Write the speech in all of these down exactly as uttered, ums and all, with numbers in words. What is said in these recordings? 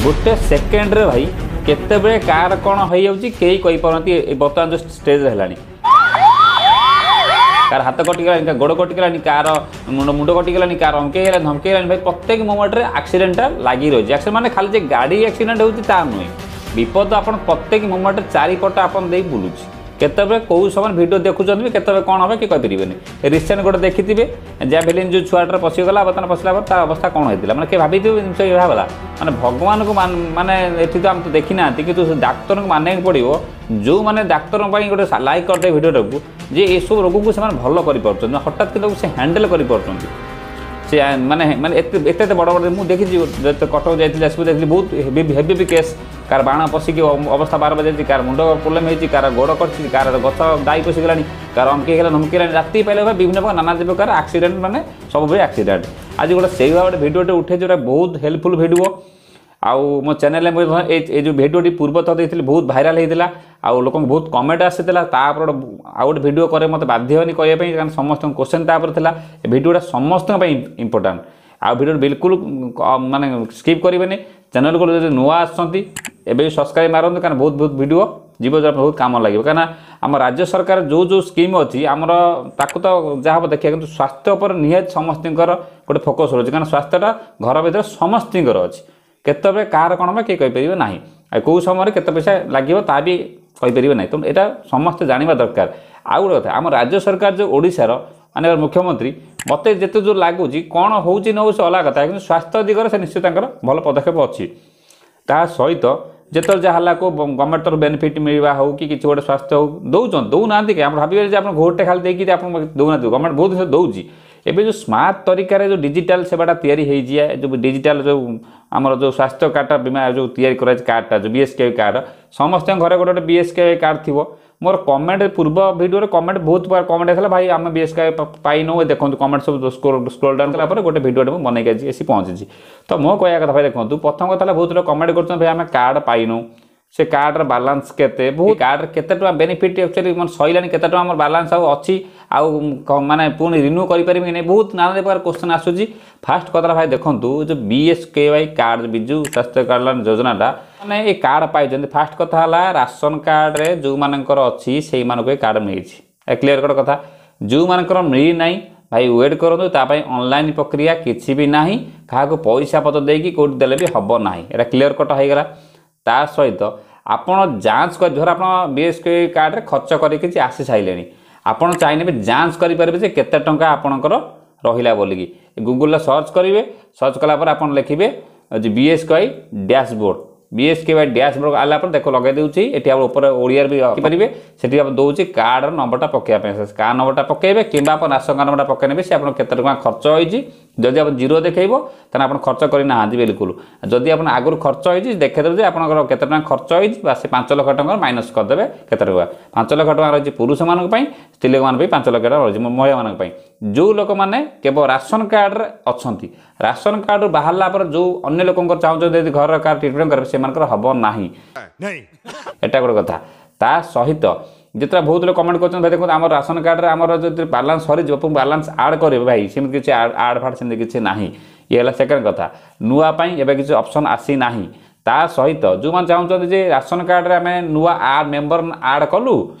ଗୋଟେ ସେକେଣ୍ଡରେ ଭାଇ କେତେବେଳେ କାହାର କ'ଣ ହେଇଯାଉଛି କେହି କହିପାରୁନାହାନ୍ତି। ଏ ବର୍ତ୍ତମାନ ଯେଉଁ ଷ୍ଟେଜ୍ରେ ହେଲାଣି, କାହାର ହାତ କଟିଗଲାଣି, କାହାର ଗୋଡ଼ କଟିଗଲାଣି, କାହାର ମୁଣ୍ଡ ମୁଣ୍ଡ କଟିଗଲାଣି, କାହାର ଅମକେଇ ହେଲାଣି, ଧମକେଇ ହେଲାଣି। ଭାଇ, ପ୍ରତ୍ୟେକ ମୋମେଣ୍ଟରେ ଆକ୍ସିଡେଣ୍ଟଟା ଲାଗି ରହିଛି। ଆକ୍ସିଡେଣ୍ଟ ମାନେ ଖାଲି ଯେ ଗାଡ଼ି ଆକ୍ସିଡେଣ୍ଟ ହେଉଛି ତା ନୁହେଁ, ବିପଦ ଆପଣ ପ୍ରତ୍ୟେକ ମୋମେଣ୍ଟରେ ଚାରିପଟ ଆପଣ ଦେଇ ବୁଲୁଛି। କେତେବେଳେ କେଉଁ ସମୟରେ ଭିଡ଼ିଓ ଦେଖୁଛନ୍ତି ବି କେତେବେଳେ କ'ଣ ହେବ କି କହିପାରିବେନି। ରିସେଣ୍ଟ ଗୋଟେ ଦେଖିଥିବେ, ଜାଭେଲିନ୍ ଯେଉଁ ଛୁଆଟାରେ ପଶିଗଲା, ବର୍ତ୍ତମାନ ପଶିଲା ପରେ ତା ଅବସ୍ଥା କ'ଣ ହେଇଥିଲା, ମାନେ କିଏ ଭାବିଥିବେ ଜିନିଷ ଏଇଭଳିଆ ହେଲା? ମାନେ ଭଗବାନଙ୍କୁ ମାନେ ଏଠି ତ ଆମେ ତ ଦେଖିନାହାନ୍ତି, କିନ୍ତୁ ସେ ଡାକ୍ତରଙ୍କୁ ମାନିବାକୁ ପଡ଼ିବ, ଯେଉଁମାନେ ଡାକ୍ତରଙ୍କ ପାଇଁ ଗୋଟେ ଲାଇକ୍ କରିଦେବେ ଭିଡ଼ିଓଟାକୁ, ଯେ ଏସବୁ ରୋଗକୁ ସେମାନେ ଭଲ କରିପାରୁଛନ୍ତି, ହଠାତ୍ କିନ୍ତୁ ସେ ହ୍ୟାଣ୍ଡେଲ୍ କରିପାରୁଛନ୍ତି। ସେ ମାନେ ମାନେ ଏତେ ଏତେ ଏତେ ବଡ଼ ବଡ଼ ମୁଁ ଦେଖିଛି। ଯେତେ କଟକ ଯାଇଥିଲି, ଯାଜପୁର ଯାଇଥିଲି, ବହୁତ ହେଭି ହେଭି ବି କେସ୍। କାହାର ବାଣ ପଶିକି ଅବସ୍ଥା ବାର ବାଜିଛି, କାହାର ମୁଣ୍ଡ ପ୍ରୋବ୍ଲେମ୍ ହେଇଛି, କାହାର ଗୋଡ଼ କଟିଛି, କାହାର ଗଛ ଦାଇ ପଶିଗଲାଣି, କାହାର ଅମକେଇ ହେଲା, ଧମକେଇ ହେଲାଣି। ରାତି ପାଇଲେ ବିଭିନ୍ନ ପ୍ରକାର ନାନା ପ୍ରକାର ଆକ୍ସିଡେଣ୍ଟ, ମାନେ ସବୁବେଳେ ଆକ୍ସିଡେଣ୍ଟ। ଆଜି ଗୋଟେ ସେଇଭଳିଆ ଗୋଟେ ଭିଡ଼ିଓଟେ ଉଠେଇଛି, ଗୋଟେ ବହୁତ ହେଲ୍ପଫୁଲ୍ ଭିଡ଼ିଓ। ଆଉ ମୋ ଚ୍ୟାନେଲରେ ମୁଁ ଏ ଏ ଯେଉଁ ଭିଡ଼ିଓଟି ପୂର୍ବଥର ଦେଇଥିଲି, ବହୁତ ଭାଇରାଲ୍ ହେଇଥିଲା ଆଉ ଲୋକଙ୍କୁ ବହୁତ କମେଣ୍ଟ ଆସିଥିଲା। ତାପରେ ଗୋଟେ ଆଉ ଗୋଟେ ଭିଡ଼ିଓ କରେ ମୋତେ ବାଧ୍ୟ ହେନି କହିବା ପାଇଁ, କାରଣ ସମସ୍ତଙ୍କ କୋଶ୍ଚେନ୍ ତାପରେ ଥିଲା। ଏ ଭିଡ଼ିଓଟା ସମସ୍ତଙ୍କ ପାଇଁ ଇମ୍ପୋର୍ଟାଣ୍ଟ, ଆଉ ଭିଡ଼ିଓ ବିଲକୁଲ ମାନେ ସ୍କିପ୍ କରିବେନି। ଚ୍ୟାନେଲକୁ ଯଦି ନୂଆ ଆସୁଛନ୍ତି, ଏବେ ବି ସବସ୍କ୍ରାଇବ୍ ମାରନ୍ତୁ, କାରଣ ବହୁତ ବହୁତ ଭିଡ଼ିଓ ଯିବ, ବହୁତ କାମ ଲାଗିବ। କାହିଁକିନା ଆମ ରାଜ୍ୟ ସରକାର ଯେଉଁ ଯେଉଁ ସ୍କିମ୍ ଅଛି ଆମର, ତାକୁ ତ ଯାହା ହେବ ଦେଖିବା, କିନ୍ତୁ ସ୍ୱାସ୍ଥ୍ୟ ଉପରେ ନିହାତି ସମସ୍ତଙ୍କର ଗୋଟେ ଫୋକସ୍ ରହୁଛି, କାରଣ ସ୍ୱାସ୍ଥ୍ୟଟା ଘର ଭିତରେ ସମସ୍ତଙ୍କର ଅଛି। କେତେବେଳେ କାହାର କ'ଣ ହେବ କେହି କହିପାରିବେ ନାହିଁ, ଆଉ କେଉଁ ସମୟରେ କେତେ ପଇସା ଲାଗିବ ତା ବି କହିପାରିବେ ନାହିଁ। ତେଣୁ ଏଇଟା ସମସ୍ତେ ଜାଣିବା ଦରକାର। ଆଉ ଗୋଟେ କଥା, ଆମ ରାଜ୍ୟ ସରକାର ଯେଉଁ ଓଡ଼ିଶାର ମାନେ ମୁଖ୍ୟମନ୍ତ୍ରୀ, ମୋତେ ଯେତେ ଦୂର ଲାଗୁଛି, କ'ଣ ହେଉଛି ନ ହେଉଛି ଅଲଗା କଥା, କିନ୍ତୁ ସ୍ୱାସ୍ଥ୍ୟ ଦିଗରେ ସେ ନିଶ୍ଚୟ ତାଙ୍କର ଭଲ ପଦକ୍ଷେପ ଅଛି। ତା ସହିତ ଯେତେବେଳେ ଯାହା ହେଲା କେଉଁ ଗଭର୍ଣ୍ଣମେଣ୍ଟ ତରଫ ବେନିଫିଟ୍ ମିଳିବା ହେଉ କି କିଛି ଗୋଟେ ସ୍ୱାସ୍ଥ୍ୟ ହେଉ, ଦେଉଛନ୍ତି। ଦେଉନାହାନ୍ତି କି ଆପଣ ଭାବିବେ ଯେ ଆପଣ ଭୋଟଟେ ଖାଲି ଦେଇକି ଆପଣ ଦେଉନାହାନ୍ତି? ଗଭର୍ଣ୍ଣମେଣ୍ଟ ବହୁତ ଜିନିଷ ଦେଉଛି। ଏବେ ଯେଉଁ ସ୍ମାର୍ଟ ତରିକାରେ ଯେଉଁ ଡିଜିଟାଲ ସେବାଟା ତିଆରି ହେଇଛି, ଯେଉଁ ଡିଜିଟାଲ ଯେଉଁ ଆମର ଯେଉଁ ସ୍ୱାସ୍ଥ୍ୟ କାର୍ଡ଼ଟା, ବୀମା ଯେଉଁ ତିଆରି କରାଯାଇଛି କାର୍ଡ଼ଟା, ଯେଉଁ ବି ଏସ୍ କେ କାର୍ଡ଼, ସମସ୍ତଙ୍କ ଘରେ ଗୋଟେ ଗୋଟେ ବି ଏସ୍ କେ କାର୍ଡ଼ ଥିବ। ମୋର କମେଣ୍ଟ ପୂର୍ବ ଭିଡ଼ିଓରେ କମେଣ୍ଟ ବହୁତ ପ୍ରକାର କମେଣ୍ଟ ଆସିଲା, ଭାଇ ଆମେ ବି ଏସ୍ କେ ପାଇନୁ। ଦେଖନ୍ତୁ, କମେଣ୍ଟ ସବୁ ସ୍କ୍ରୋଲ୍ ଡାଉନ୍ କଲା ପରେ ଗୋଟେ ଭିଡ଼ିଓଟେ ମୁଁ ବନେଇକି ଆଜି ଆସି ପହଞ୍ଚିଛି। ତ ମୋ କହିବା କଥା ଭାଇ ଦେଖନ୍ତୁ, ପ୍ରଥମ କଥା ହେଲା ବହୁତ ଲୋକ କମେଣ୍ଟ କରୁଛନ୍ତି, ଭାଇ ଆମେ କାର୍ଡ଼ ପାଇନୁ, ସେ କାର୍ଡ଼ର ବାଲାନ୍ସ କେତେ, ବହୁତ କାର୍ଡ଼ରେ କେତେ ଟଙ୍କା ବେନିଫିଟ୍ ଆକ୍ଚୁଆଲି ମାନେ ସରିଲାଣି, କେତେ ଟଙ୍କା ଆମର ବାଲାନ୍ସ ଆଉ ଅଛି, ଆଉ ମାନେ ପୁଣି ରିନ୍ୟୁ କରିପାରିବି କି ନାହିଁ, ବହୁତ ନାନା ପ୍ରକାର କୋଶ୍ଚେନ୍ ଆସୁଛି। ଫାଷ୍ଟ କଥା ଭାଇ ଦେଖନ୍ତୁ, ଯେଉଁ B S K Y card, Biju ସ୍ୱାସ୍ଥ୍ୟ କଲ୍ୟାଣ ଯୋଜନାଟା, ମାନେ ଏ କାର୍ଡ଼ ପାଇଛନ୍ତି। ଫାଷ୍ଟ କଥା ହେଲା ରାସନ କାର୍ଡ଼ରେ ଯେଉଁମାନଙ୍କର ଅଛି ସେଇମାନଙ୍କୁ ଏ କାର୍ଡ଼ ମିଳିଛି, ଏ କ୍ଲିୟର କଟ୍ କଥା। ଯେଉଁମାନଙ୍କର ମିଳିନାହିଁ ଭାଇ, ୱେଟ୍ କରନ୍ତୁ, ତା ପାଇଁ ଅନଲାଇନ୍ ପ୍ରକ୍ରିୟା କିଛି ବି ନାହିଁ, କାହାକୁ ପଇସା ପତ୍ର ଦେଇକି କେଉଁଠି ଦେଲେ ବି ହେବ ନାହିଁ। ଏଇଟା କ୍ଲିୟର କଟ୍ ହେଇଗଲା। ତା ସହିତ ଆପଣ ଯାଞ୍ଚ କରି, ଧର ଆପଣ ବି ଏସ୍ କେ କାର୍ଡ଼ରେ ଖର୍ଚ୍ଚ କରି କିଛି ଆସି ସାରିଲେଣି, ଆପଣ ଚାହିଁଲେ ବି ଯାଞ୍ଚ କରିପାରିବେ ଯେ କେତେ ଟଙ୍କା ଆପଣଙ୍କର ରହିଲା ବୋଲିକି। ଗୁଗୁଲରେ ସର୍ଚ୍ଚ କରିବେ, ସର୍ଚ୍ଚ କଲା ପରେ ଆପଣ ଲେଖିବେ B S K Y dashboard. B S K Y dashboard ଆଇଲା ପରେ ଦେଖ ଲଗାଇ ଦେଉଛି ଏଠି, ଆପଣ ଉପରେ ଓଡ଼ିଆରେ ବି ରଖିପାରିବେ। ସେଠି ଆପଣ ଦେଉଛି କାର୍ଡ଼ର ନମ୍ବରଟା ପକାଇବା ପାଇଁ, କାର୍ଡ଼ ନମ୍ବରଟା ପକାଇବେ କିମ୍ବା ଆପଣ ରାସନ କାର୍ଡ଼ ନମ୍ବରଟା ପକାଇ ନେବେ, ସେ ଆପଣ କେତେ ଟଙ୍କା ଖର୍ଚ୍ଚ ହେଇଛି। ଯଦି ଆପଣ ଜିରୋ ଦେଖେଇବ, ତାହେଲେ ଆପଣ ଖର୍ଚ୍ଚ କରିନାହାନ୍ତି ବିଲକୁଲ। ଯଦି ଆପଣ ଆଗରୁ ଖର୍ଚ୍ଚ ହେଇଛି, ଦେଖେଇଦେବେ ଯେ ଆପଣଙ୍କର କେତେ ଟଙ୍କା ଖର୍ଚ୍ଚ ହେଇଛି, ବା ସେ ପାଞ୍ଚ ଲକ୍ଷ ଟଙ୍କାର ମାଇନସ୍ କରିଦେବେ କେତେ ଟଙ୍କା। ପାଞ୍ଚ ଲକ୍ଷ ଟଙ୍କା ରହିଛି ପୁରୁଷମାନଙ୍କ ପାଇଁ, ସ୍ତ୍ରୀ ଲୋକମାନଙ୍କ ପାଇଁ ପାଞ୍ଚ ଲକ୍ଷ ଟଙ୍କା ରହିଛି ମହିଳାମାନଙ୍କ ପାଇଁ, ଯେଉଁ ଲୋକମାନେ କେବଳ ରାସନ କାର୍ଡ଼ରେ ଅଛନ୍ତି। ରାସନ କାର୍ଡ଼ରୁ ବାହାରିଲା ପରେ ଯେଉଁ ଅନ୍ୟ ଲୋକଙ୍କର ଚାହୁଁଛନ୍ତି ଯଦି ଘରର କାର୍ଡ଼ ଟ୍ରିଟମେଣ୍ଟ କରିବେ, ସେମାନଙ୍କର ହେବ ନାହିଁ। ଏଟା ଗୋଟେ କଥା। ତା ସହିତ ଯେତେବେଳେ ବହୁତ ଲୋକ କମେଣ୍ଟ କରୁଛନ୍ତି, ଭାଇ ଦେଖନ୍ତୁ, ଆମର ରାସନ କାର୍ଡ଼ରେ ଆମର ଯଦି ବାଲାନ୍ସ ସରିଯିବ ପୁଣି ବାଲାନ୍ସ ଆଡ଼୍ କରିବେ। ଭାଇ, ସେମିତି କିଛି ଆଡ଼୍ ଫାଡ଼୍ ସେମିତି କିଛି ନାହିଁ। ଇଏ ହେଲା ସେକେଣ୍ଡ କଥା। ନୂଆ ପାଇଁ ଏବେ କିଛି ଅପସନ୍ ଆସିନାହିଁ। ତା ସହିତ ଯେଉଁମାନେ ଚାହୁଁଛନ୍ତି ଯେ ରାସନ କାର୍ଡ଼ରେ ଆମେ ନୂଆ ଆଡ଼୍ ମେମ୍ବର ଆଡ଼୍ କଲୁ,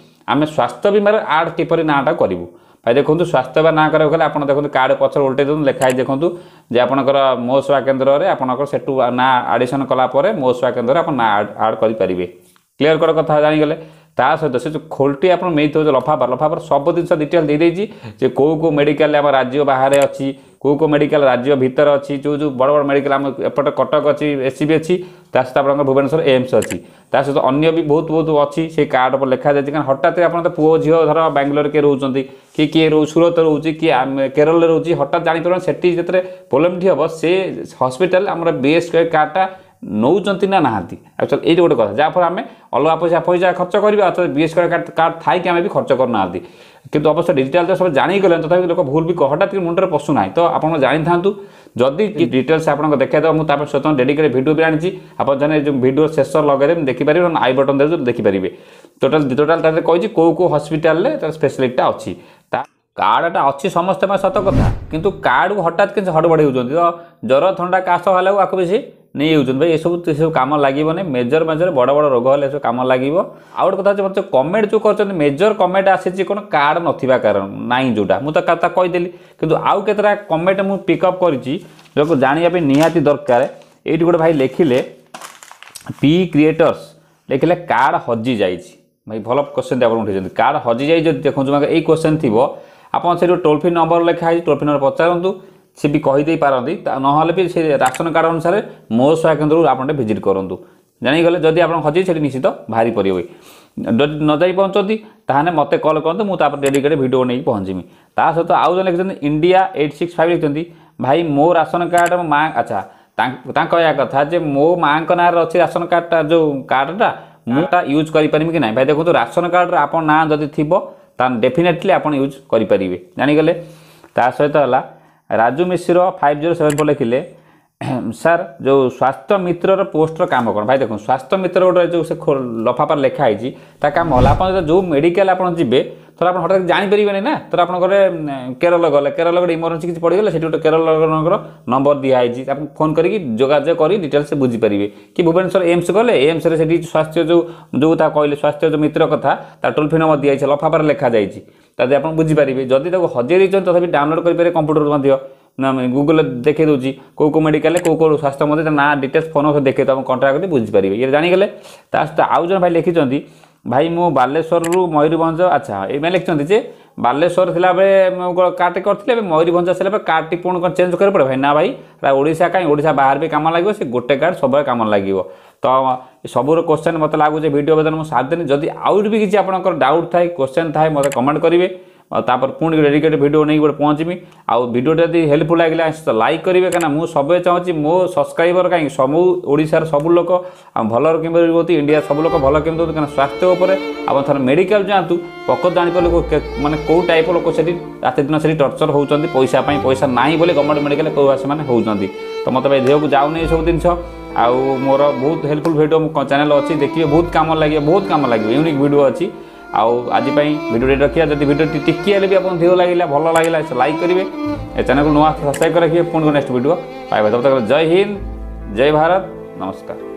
ଆମେ ସ୍ୱାସ୍ଥ୍ୟ ବୀମାରେ ଆଡ଼୍ କିପରି ନାଁଟା କରିବୁ? ଭାଇ ଦେଖନ୍ତୁ, ସ୍ୱାସ୍ଥ୍ୟ ବୀମା ନାଁ କରିବାକୁ ହେଲେ ଆପଣ ଦେଖନ୍ତୁ, କାର୍ଡ଼ ପଛରେ ଓଲଟେଇ ଦିଅନ୍ତୁ, ଲେଖା ହେଇଛି ଦେଖନ୍ତୁ ଯେ ଆପଣଙ୍କର ମୋ ସେବା କେନ୍ଦ୍ରରେ ଆପଣଙ୍କର ସେଠୁ ନାଁ ଆଡ଼ିସନ୍ କଲା ପରେ ମୋ ସେବା କେନ୍ଦ୍ରରେ ଆପଣ ନାଁ ଆଡ଼୍ କରିପାରିବେ। କ୍ଲିୟର କଟ୍ କଥା ଜାଣିଗଲେ। ତା ସହିତ ସେ ଯେଉଁ ଖୋଲଟି ଆପଣ ମିଳିଥିବ, ଯେଉଁ ଲଫାଫା, ଲଫାଫାର ସବୁ ଜିନିଷ ଡିଟେଲ୍ ଦେଇଦେଇଛି ଯେ କେଉଁ କେଉଁ ମେଡ଼ିକାଲ ଆମ ରାଜ୍ୟ ବାହାରେ ଅଛି, କେଉଁ କେଉଁ ମେଡ଼ିକାଲ ରାଜ୍ୟ ଭିତରେ ଅଛି, ଯେଉଁ ଯେଉଁ ବଡ଼ ବଡ଼ ମେଡ଼ିକାଲ ଆମ ଏପଟେ କଟକ ଅଛି, ଏସ୍ ସି ବି ଅଛି, ତା ସହିତ ଆପଣଙ୍କର ଭୁବନେଶ୍ୱର ଏମ୍ସ ଅଛି, ତା ସହିତ ଅନ୍ୟ ବି ବହୁତ ବହୁତ ଅଛି, ସେଇ କାର୍ଡ଼ ଉପରେ ଲେଖାଯାଇଛି। କାରଣ ହଠାତ୍ ଆପଣ ତ ପୁଅ ଝିଅ ଧର ବାଙ୍ଗଲୋରରେ କିଏ ରହୁଛନ୍ତି କି କିଏ ରହୁ ସୁରତ ରହୁଛି କି କେରଳରେ ରହୁଛି, ହଠାତ୍ ଜାଣିପାରିବନି ସେଠି ଯେତେବେଳେ ପ୍ରୋବ୍ଲେମଟି ହେବ, ସେ ହସ୍ପିଟାଲ ଆମର ବି ଏସ୍ କେ କାର୍ଡ଼ଟା ନେଉଛନ୍ତି ନା ନାହାନ୍ତି। ଆକ୍ଚୁଆଲି ଏଇଠି ଗୋଟେ କଥା, ଯାହାଫଳରେ ଆମେ ଅଲଗା ପଇସା ପଇସା ଖର୍ଚ୍ଚ କରିବା, ଅଥବା B S K card card ଥାଇକି ଆମେ ବି ଖର୍ଚ୍ଚ କରୁନାହାନ୍ତି। କିନ୍ତୁ ଅବଶ୍ୟ ଡିଜିଟାଲ ତ ସବୁ ଜାଣିଗଲେଣି, ତଥାପି ଲୋକ ଭୁଲ ବି ହଠାତ୍ ମୁଣ୍ଡରେ ପଶୁନାହିଁ। ତ ଆପଣ ଜାଣିଥାନ୍ତୁ, ଯଦି ଡିଟେଲ୍ସ ଆପଣଙ୍କ ଦେଖାଇଦେବ, ମୁଁ ତାପରେ ସ୍ୱତନ୍ତ୍ର ଡେଡିକେଟେଡ୍ ଭିଡ଼ିଓ ବି ଆଣିଛି। ଆପଣ ଜାଣେ ଯେଉଁ ଭିଡ଼ିଓ ଶେଷ ଲଗାଇଦେବେ ଦେଖିପାରିବେ, I button ଦେବେ ଦେଖିପାରିବେ। ଟୋଟାଲ ଟୋଟାଲ ତା ଦେହରେ କହିଛି କେଉଁ କେଉଁ ହସ୍ପିଟାଲରେ ତାର ସ୍ପେଶାଲିଟିଟା ଅଛି। ତା କାର୍ଡ଼ଟା ଅଛି ସମସ୍ତ ପାଇଁ ସତ କଥା, କିନ୍ତୁ କାର୍ଡ଼କୁ ହଠାତ୍ କିଛି ହଡ଼ବଡ଼ ହେଉଛନ୍ତି। ତ ଜ୍ୱର ଥଣ୍ଡା କାଶ ହେଲାକୁ ଆକୁ ବେଶୀ ନେଇଯାଉଛନ୍ତି ଭାଇ। ଏସବୁ ଏସବୁ କାମ ଲାଗିବନି। ମେଜର ମେଜର ବଡ଼ ବଡ଼ ରୋଗ ହେଲେ ଏସବୁ କାମ ଲାଗିବ। ଆଉ ଗୋଟେ କଥା ହେଉଛି, ମୋତେ କମେଣ୍ଟ ଯେଉଁ କରିଛନ୍ତି, ମେଜର କମେଣ୍ଟ ଆସିଛି କ'ଣ କାର୍ଡ଼ ନଥିବା କାରଣ ନାହିଁ, ଯେଉଁଟା ମୁଁ ତ କଥା କହିଦେଲି। କିନ୍ତୁ ଆଉ କେତେଟା କମେଣ୍ଟ ମୁଁ ପିକଅପ୍ କରିଛି, ଯେଉଁକୁ ଜାଣିବା ପାଇଁ ନିହାତି ଦରକାର। ଏଇଠି ଗୋଟେ ଭାଇ ଲେଖିଲେ, ପି କ୍ରିଏଟର୍ସ ଲେଖିଲେ, କାର୍ଡ଼ ହଜି ଯାଇଛି। ଭାଇ, ଭଲ କ୍ୱେଶ୍ଚନ୍ ଆପଣ ଉଠେଇଛନ୍ତି। କାର୍ଡ଼ ହଜିଯାଇଛି ଯଦି, ଦେଖନ୍ତୁ ଏଇ କ୍ୱେଶ୍ଚନ୍ ଥିବ, ଆପଣ ସେଠି ଟୋଲ୍ ଫ୍ରି ନମ୍ବର ଲେଖା ହେଇଛି, ଟୋଲ୍ ଫ୍ରି ନମ୍ବର ପଚାରନ୍ତୁ, ସେ ବି କହିଦେଇ ପାରନ୍ତି। ନହେଲେ ବି ସେ ରାସନ କାର୍ଡ଼ ଅନୁସାରେ ମୋ ସେବା କେନ୍ଦ୍ରରୁ ଆପଣ ଟିକେ ଭିଜିଟ୍ କରନ୍ତୁ। ଜାଣିଗଲେ, ଯଦି ଆପଣ ହଜି ସେଠି ନିଶ୍ଚିତ ବାହାରି ପଡ଼ିବ। ଯଦି ନ ଯାଇ ପହଞ୍ଚନ୍ତି, ତାହେଲେ ମୋତେ କଲ୍ କରନ୍ତୁ, ମୁଁ ତାପରେ ଡେଡିକେଟେଡ଼ ଭିଡ଼ିଓ ନେଇକି ପହଞ୍ଚିବି। ତା ସହିତ ଆଉ ଜଣେ ଲେଖିଛନ୍ତି, ଇଣ୍ଡିଆ ଏଇଟ୍ ସିକ୍ସ ଫାଇଭ୍ ଲେଖିଛନ୍ତି, ଭାଇ ମୋ ରାସନ କାର୍ଡ଼ ମୋ ମା, ଆଚ୍ଛା, ତାଙ୍କ କହିବା କଥା ଯେ ମୋ ମାଆଙ୍କ ନାଁରେ ଅଛି ରାସନ କାର୍ଡ଼ଟା, ଯେଉଁ କାର୍ଡ଼ଟା ମୁଁ ତା ୟୁଜ୍ କରିପାରିବି କି ନାହିଁ? ଭାଇ ଦେଖନ୍ତୁ, ରାସନ କାର୍ଡ଼ରେ ଆପଣ ନାଁ ଯଦି ଥିବ, ତାହେଲେ ଡେଫିନେଟଲି ଆପଣ ୟୁଜ୍ କରିପାରିବେ। ଜାଣିଗଲେ। ତା ସହିତ ହେଲା Raju Mishra five zero seven four ଲେଖିଲେ, ସାର୍ ଯେଉଁ ସ୍ୱାସ୍ଥ୍ୟ ମିତ୍ରର ପୋଷ୍ଟର କାମ କ'ଣ? ଭାଇ ଦେଖନ୍ତୁ, ସ୍ୱାସ୍ଥ୍ୟ ମିତ୍ର ଗୋଟେ ଯେଉଁ ସେ ଲଫାପାରେ ଲେଖା ହେଇଛି, ତା କାମ ହେଲା ଆପଣ ଯେଉଁ ମେଡ଼ିକାଲ ଆପଣ ଯିବେ, ଧର ଆପଣ ହଠାତ୍ ଜାଣିପାରିବେନି ନା, ଧର ଆପଣ ଗଲେ କେରଳ, ଗଲେ କେରଳ, ଗୋଟେ ଇମର୍ଜେନ୍ସି କିଛି ପଡ଼ିଗଲେ, ସେଠି ଗୋଟେ କେରଳଙ୍କର ନମ୍ବର ଦିଆହେଇଛି, ଆପଣ ଫୋନ୍ କରିକି ଯୋଗାଯୋଗ କରି ଡିଟେଲ୍ସ ବୁଝିପାରିବେ। କି ଭୁବନେଶ୍ୱର ଏମ୍ସ ଗଲେ, ଏମ୍ସରେ ସେଠି ସ୍ୱାସ୍ଥ୍ୟ ଯେଉଁ ଯେଉଁ ତା କହିଲେ ସ୍ୱାସ୍ଥ୍ୟ ଯେଉଁ ମିତ୍ର କଥା, ତା ଟୋଲ୍ ଫ୍ରି ନମ୍ବର ଦିଆହେଇଛି, ଲଫାପାରେ ଲେଖାଯାଇଛି, ତାହେଲେ ଆପଣ ବୁଝିପାରିବେ। ଯଦି ତାକୁ ହଜେଇ ଦେଇଛନ୍ତି, ତଥାପି ଡାଉନଲୋଡ଼ କରିପାରିବେ କମ୍ପ୍ୟୁଟର ମଧ୍ୟ ନା, ଗୁଗଲରେ ଦେଖେଇ ଦେଉଛି କେଉଁ କେଉଁ ମେଡ଼ିକାଲରେ କେଉଁ କେଉଁ ସ୍ୱାସ୍ଥ୍ୟ ମଧ୍ୟ ତା ନାଁ, ଡିଟେଲ୍ସ, ଫୋନ୍ ନମ୍ବର ଦେଖେଇ ଆପଣ କଣ୍ଟାକ୍ଟ କରି ବୁଝିପାରିବେ। ଇଏ ଜାଣିଗଲେ। ତା ସହିତ ଆଉ ଜଣେ ଭାଇ ଲେଖିଛନ୍ତି, ଭାଇ ମୁଁ ବାଲେଶ୍ୱରରୁ ମୟୂରଭଞ୍ଜ, ଆଚ୍ଛା, ଏଇମାନେ ଲେଖିଛନ୍ତି ଯେ ବାଲେଶ୍ୱର ଥିଲାବେଳେ ମୁଁ କାର୍ଡ଼ଟି କରିଥିଲି, ଏବେ ମୟୂରଭଞ୍ଜ ଆସିଲା ପରେ କାର୍ଡ଼ଟି ପୁଣି କ'ଣ ଚେଞ୍ଜ କରିବାକୁ ପଡ଼ିବ? ଭାଇ ନା ଭାଇ, ଓଡ଼ିଶା କାହିଁ, ଓଡ଼ିଶା ବାହାରେ ବି କାମ ଲାଗିବ। ସେ ଗୋଟେ କାର୍ଡ଼ ସବୁବେଳେ କାମ ଲାଗିବ। ତ ସବୁର କ୍ୱେଶ୍ଚନ୍ ମୋତେ ଲାଗୁଛି ଭିଡ଼ିଓ ବର୍ତ୍ତମାନ ମୁଁ ସାରିଦେଲି। ଯଦି ଆହୁରି ବି କିଛି ଆପଣଙ୍କର ଡାଉଟ୍ ଥାଏ, କ୍ୱେଶ୍ଚନ୍ ଥାଏ, ମୋତେ କମେଣ୍ଟ କରିବେ, ଆଉ ତାପରେ ପୁଣି ଡେଡିକେଟେଡ଼ ଭିଡ଼ିଓ ନେଇକି ଗୋଟେ ପହଞ୍ଚିବି। ଆଉ ଭିଡ଼ିଓଟା ଯଦି ହେଲ୍ପଫୁଲ୍ ଲାଗିଲା, ତ ଲାଇକ୍ କରିବେ, କାହିଁକିନା ମୁଁ ସବୁବେଳେ ଚାହୁଁଛି ମୋ ସବସ୍କ୍ରାଇବର କାହିଁକି, ସବୁ ଓଡ଼ିଶାର ସବୁ ଲୋକ ଆଉ ଭଲ କେମିତି ରୁହନ୍ତି, ଇଣ୍ଡିଆ ସବୁ ଲୋକ ଭଲ କେମିତି ରୁହନ୍ତି। କାହିଁକିନା ସ୍ୱାସ୍ଥ୍ୟ ଉପରେ ଆପଣ ଥରେ ମେଡ଼ିକାଲ ଯାଆନ୍ତୁ, ପ୍ରକୃତ ଜାଣିପାରିଲେ ମାନେ କେଉଁ ଟାଇପ୍ ଲୋକ ସେଠି ରାତି ଦିନ ସେଠି ଟର୍ଚର ହେଉଛନ୍ତି ପଇସା ପାଇଁ। ପଇସା ନାହିଁ ବୋଲି ଗଭର୍ଣ୍ଣମେଣ୍ଟ ମେଡ଼ିକାଲ କେଉଁ ସେମାନେ ହେଉଛନ୍ତି। ତ ମୋତେ ଭାଇ ଦେହକୁ ଯାଉନି ଏସବୁ ଜିନିଷ। ଆଉ ମୋର ବହୁତ ହେଲ୍ପଫୁଲ୍ ଭିଡ଼ିଓ ମୋ ଚ୍ୟାନେଲ୍ ଅଛି, ଦେଖିବେ, ବହୁତ କାମ ଲାଗିବ, ବହୁତ କାମ ଲାଗିବ, ୟୁନିକ୍ ଭିଡ଼ିଓ ଅଛି। ଆଉ ଆଜି ପାଇଁ ଭିଡ଼ିଓଟି ରଖିବା। ଯଦି ଭିଡ଼ିଓଟି ଟିକିଏ ହେଲେ ବି ଆପଣଙ୍କୁ ଦେହ ଲାଗିଲା, ଭଲ ଲାଗିଲା, ଲାଇକ୍ କରିବେ, ଏ ଚ୍ୟାନେଲକୁ ନୂଆ ସବସ୍କ୍ରାଇବ୍ କରି ରଖିବେ। ପୁଣି ନେକ୍ସଟ ଭିଡ଼ିଓ ପାଇବେ। ତବ ତକ ଜୟ ହିନ୍ଦ, ଜୟ ଭାରତ, ନମସ୍କାର।